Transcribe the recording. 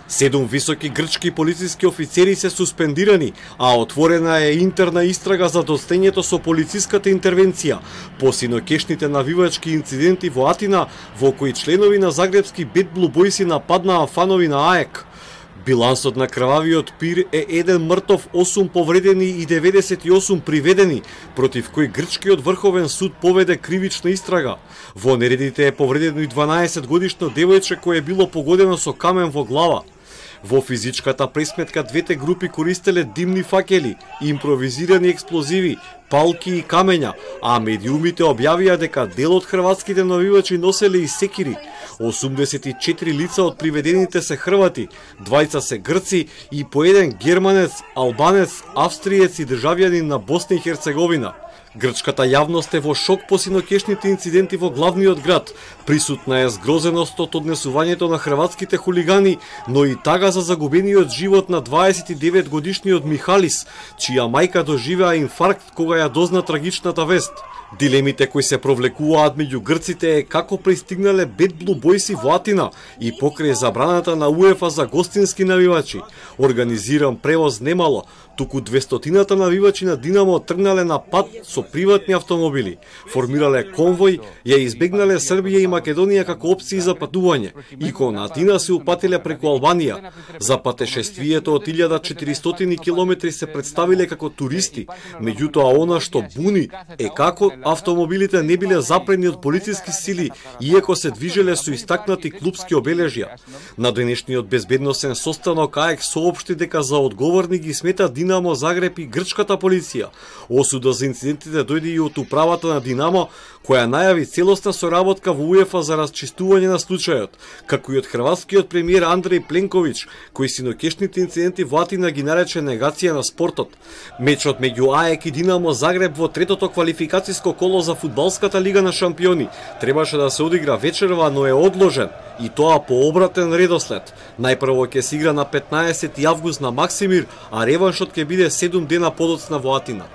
7 високи грчки полициски офицери се суспендирани, а отворена е интерна истрага за достоењето со полициската интервенција по синокешните навивачки инциденти во Атина, во кои членови на загребски Bad Blue Boys нападнаа фанови на АЕК. Билансот на крвавиот пир е 1 мртов, 8 повредени и 98 приведени, против кои грчкиот врховен суд поведе кривична истрага. Во нередите е повредено и 12-годишно девојче кое е било погодено со камен во глава. Во физичката пресметка двете групи користеле димни факели, импровизирани експлозиви, палки и камења, а медиумите објавија дека дел од хрватските навивачи носеле и секири. 84 лица од приведените се хрвати, 2 се грци и по еден германец, албанец, австриец и државјанин на Босна и Херцеговина. Грчката јавност е во шок по синокешните инциденти во главниот град. Присутна е згрозеност од однесувањето на хрватските хулигани, но и тага за загубениот живот на 29-годишниот Михалис, чија мајка доживеа инфаркт кога ја дозна трагичната вест. Дилемите кои се провлекуваат меѓу грците е како пристигнале Bad Blue Boys во Атина и покрај забраната на УЕФА за гостински навивачи. Организиран превоз немало, туку 200-тината навивачи на Динамо тргнале на пат со приватни автомобили, формирале конвој, ја избегнале Србија и Македонија како опции за патување и кон Атина се упатиле преку Албанија. За патешествието од 1400 километри се представиле како туристи, меѓутоа она што буни е како автомобилите не биле запрени од полициски сили, иако се движеле со истакнати клубски обележја. На денешниот безбедносен состанок АЕК соопшти дека за одговорни ги смета Динамо Загреб и грчката полиција. Осуда за инцидентите дојде и од управата на Динамо, која најави целосна соработка во УЕФА за расчистување на случајот, како и од хрватскиот премиер Андреј Пленковиќ, кој синокешните инциденти во Атина ги нарече негација на спортот. Мечот меѓу АЕК и Динамо Загреб во третото квалификацијско коло за фудбалската лига на шампиони требаше да се одигра вечерва, но е одложен, и тоа по обратен редослед. Најпрво ќе се игра на 15 август на Максимир, а реваншот ќе биде 7 дена подоцна во Атина.